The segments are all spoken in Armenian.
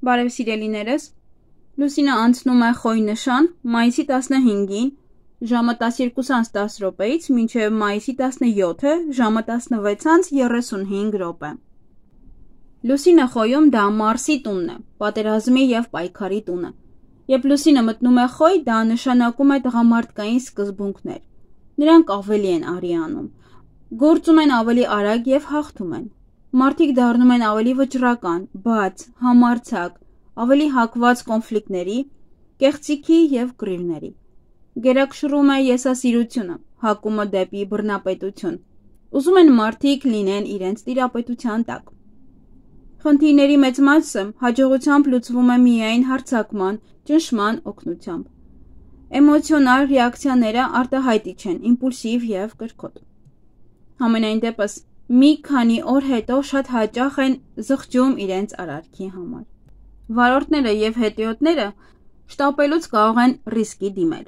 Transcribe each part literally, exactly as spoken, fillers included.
Բարև սիրելիներս, Լուսինը անցնում է Խոյ նշան մայիսի տասնհինգին ժամը տասնյոթ տասը րոպեից մինչև մայիսի տասնյոթը ժամը տասնվեց երեսունհինգ րոպե։ Լուսինը Խոյում դա Մարսի տունն է, պատերազմի և պայքարի տունը։ Երբ Լուսինը մտնում է Խոյ, դա նշանակում է տղամարդկային սկզբունքներ։ Նրանք ավելի են արի անում, գործում են ավելի արագ և հաղթում են։ Մարդիկ դառնում են ավելի վճռական, բաց, համարձակ, ավելի հակված կոնֆլիկտների, կեղծիքի և կռիվների։ Գերակշռում է եսասիրությունը, հակումը դեպի բռնապետություն։ Ուզում են մարդիկ լինեն իրենց տիրապետության տակ։ Խնդիրների մեծ մասը հաջողությամբ լուծվում է միայն հարձակման, ճնշման օգնությամբ։ Էմոցիոնալ ռեակցիաները արտահայտիչ են, իմպուլսիվ և կրքոտ։ Համենայն դեպս, մի քանի օր հետո շատ հաճախ են զղջում իրենց արարքի համար։ Վարորդները և հետիոտները շտապելուց կարող են ռիսկի դիմել։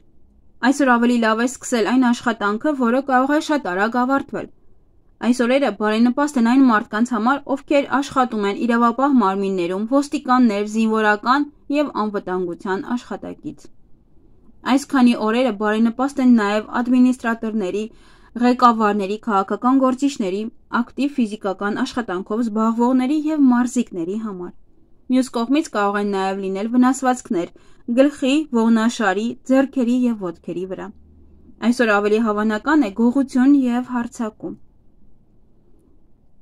Այսօր ավելի լավ է սկսել այն աշխատանքը, որը կարող է շատ արագ ավարտվել։ Այս օրերը բարենպաստ են այն մարդկանց համար, ովքեր աշխատում են իրավապահ մարմիններում, ոստիկաններ, զինվորական և անվտանգության աշխատակից։ Այս քանի օրերը բարենպաստ են նաև ադմինիստրատորների, ղեկավարների, քաղաքական գործիչների, ակտիվ ֆիզիկական աշխատանքով զբաղվողների և մարզիկների համար։ Մյուս կողմից կարող են նաև լինել վնասվածքներ գլխի, ողնաշարի, ձեռքերի և ոտքերի վրա։ Այսօր ավելի հավանական է գողություն և հարձակում։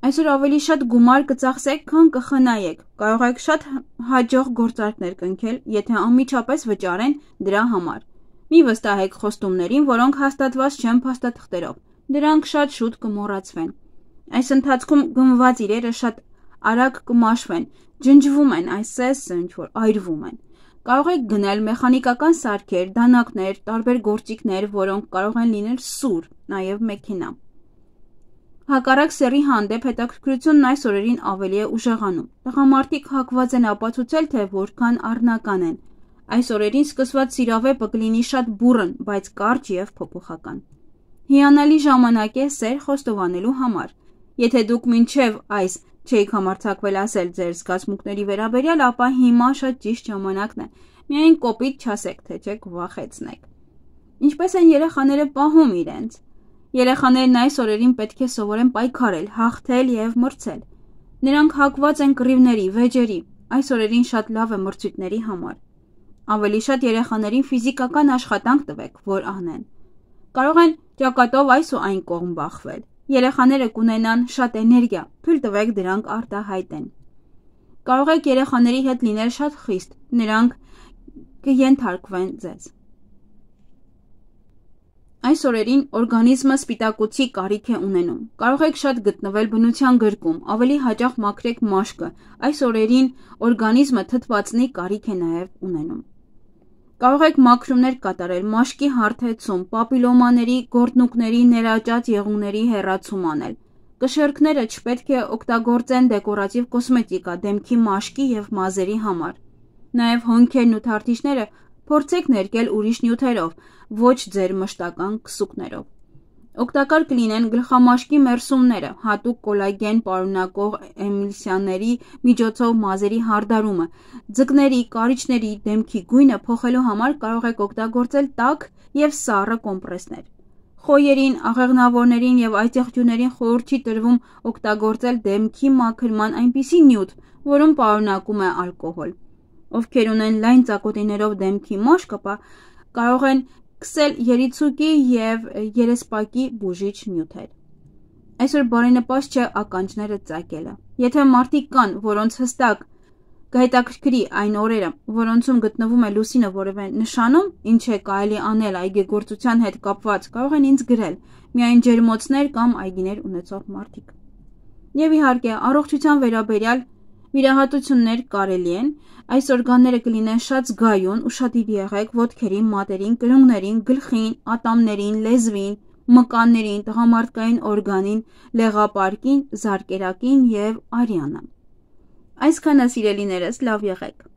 Այսօր ավելի շատ գումար կծախսեք, քան կխնայեք, կարող եք շատ հաջող գործարքներ կնքել, եթե անմիջապես վճարեն դրա համար։ Մի վստահեք խոստումներին, որոնք հաստատված չեն փաստաթղթերով, դրանք շատ շուտ կմոռացվեն։ Այս ընթացքում գնված իրերը շատ արագ կմաշվեն, ջնջվում են, այսպես ինչ-որ այրվում են։ Կարող եք գնել մեխանիկական սարքեր, դանակներ, տարբեր գործիքներ, որոնք կարող են լինել սուր, նաև մեքենա։ Հակառակ սեռի հանդեպ հետաքրքրությունն այս օրերին ավելի է ուժեղանում։ Տղամարդիկ հակված են ապացուցել, թե որքան առնական են։ Այս օրերին սկսված սիրավեպը կլինի շատ բուռն, բայց կարճ և փոփոխական։ Հիանալի ժամանակ է սեր խոստովանելու համար։ Եթե դուք մինչև այս չէիք համարձակվել ասել ձեր զգացմունքների վերաբերյալ, ապա հիմա շատ ճիշտ ժամանակն է։ Միայն կոպիտ չասեք, թե չեք վախեցնեք։ Ինչպես են երեխաները պահում իրենց։ Երեխաներն այս օրերին պետք է սովորեն պայքարել, հաղթել և մրցել։ Նրանք հակված են կռիվների, վեճերի։ Այս օրերին շատ լավ է մրցույթների համար։ Ավելի շատ երեխաներին ֆիզիկական աշխատանք տվեք, որ անեն։ Կարող են ճակատով այս ու այն կողմ բախվել։ Երեխաները կունենան շատ էներգիա, թույլ տվեք դրանք արտահայտեն։ Կարող եք երեխաների հետ լինել շատ խիստ, նրանք կենթարկվեն ձեզ։ Այս օրերին օրգանիզմը սպիտակուցի կարիք է ունենում։ Կարող եք շատ գտնվել բնության գրկում, ավելի հաճախ մաքրեք մաշկը։ Այս օրերին օրգանիզմը թթվածնի կարիք է նաև ունենում։ Կարող եք մաքրումներ կատարել, մաշկի հարթեցում, պապիլոմաների, գորտնուկների, ներաճած եղունգների հեռացում անել։ Կշեռքները չպետք է օգտագործեն դեկորատիվ կոսմետիկա, դեմքի մաշկի և մազերի համար։ Նաև հոնքերն ու թարթիչները փորձեք ներկել ուրիշ նյութերով, ոչ ձեր մշտական քսուկներով։ Օգտակար կլինեն գլխամաշկի մերսումները, հատուկ կոլագեն պարունակող էմիլսիաների միջոցով մազերի հարդարումը, ձկների, կարիճների, դեմքի գույնը փոխելու համար կարող եք օգտագործել տաք և սառը կոմպրեսներ։ Խոյերին, աղեղնավորներին և այծեղջյուներին խորհուրդ չի տրվում օգտագործել դեմքի մաքրման այնպիսի նյութ, որում պարունակում է ալկոհոլ։ Ովքեր ունեն լայն ծակոտիներով դեմքի մաշկ, ապա կարող են քսել երիցուկի և երեսպակի բուժիչ նյութեր։ Այսօր բարենպաստ չէ ականջները ծակելը։ Եթե մարդիկ կան, որոնց հստակ կհետաքրքրի այն օրերը, որոնցում գտնվում է Լուսինը որևէ նշանում, ինչ է կարելի անել այգեգործության հետ կապված, կարող են ինձ գրել, միայն ջերմոցներ կամ այգիներ ունեցող մարդիկ։ Եվ իհարկե, առողջության վերաբերյալ վիրահատություններ կարելի են։ Այս օրգանները կլինեն շատ զգայուն, ուշադիր եղեք ոտքերին, մատերին, կրունկներին, գլխին, ատամներին, լեզվին, մկաններին, տղամարդկային օրգանին, լեղապարկին, զարկերակին և արյանը։ Այսքանը սիրելիներս, լավ եղեք։